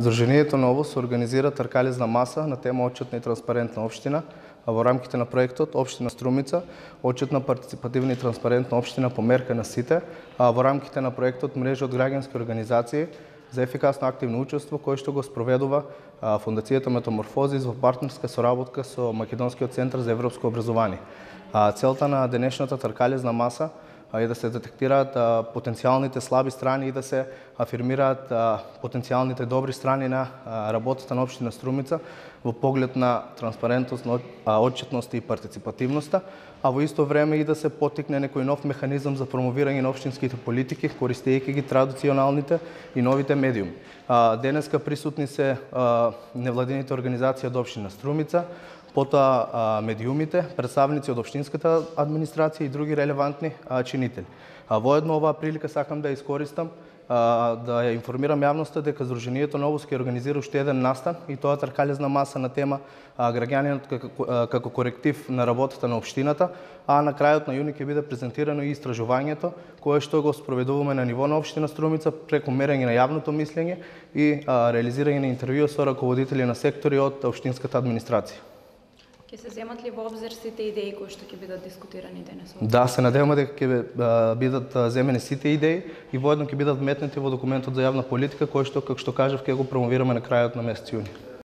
Здруженијето Ново се организира тркалезна маса на тема отчетна и транспарентна општина, а во рамките на проектот Општина Струмица, отчетна, партиципативна и транспарентна општина по мерка на сите, а во рамките на проектот Мрежа од граѓански организации за ефикасно активно учество, кој што го спроведува Фондацијата Метаморфозис во партнерска соработка со Македонскиот центар за европско образование. Целта на денешната тркалезна маса е да се детектираат потенцијалните слаби страни и да се афирмираат потенцијалните добри страни на работата на општина Струмица во поглед на транспарентност, отчетност и партиципативноста, а во исто време и да се поттикне некој нов механизам за промовирање на општинските политики, користејќи ги традиционалните и новите медиуми. Денеска присутни се невладините организации од општина Струмица, потоа медиумите, представници од општинската администрација и други релевантни чинители. Воедно оваа прилика сакам да ја искористам да ја информирам јавноста дека Здруженијето Ново ќе организира уште еден настан и тоа тркалезна маса на тема граѓанинот како коректив на работата на општината, а на крајот на јуни ќе биде презентирано и истражувањето кое што го спроведуваме на ниво на општина Струмица преку мерење на јавното мислење и реализирање на интервју со раководители на сектори од општинската администрација. Ќе се земат ли во обзир сите идеи кои што ќе бидат дискутирани денес? Да, се надеваме дека ќе бидат земени сите идеи и воедно ќе бидат вметнати во документот за јавна политика кој што, како што кажав, ќе го промовираме на крајот на месец јуни.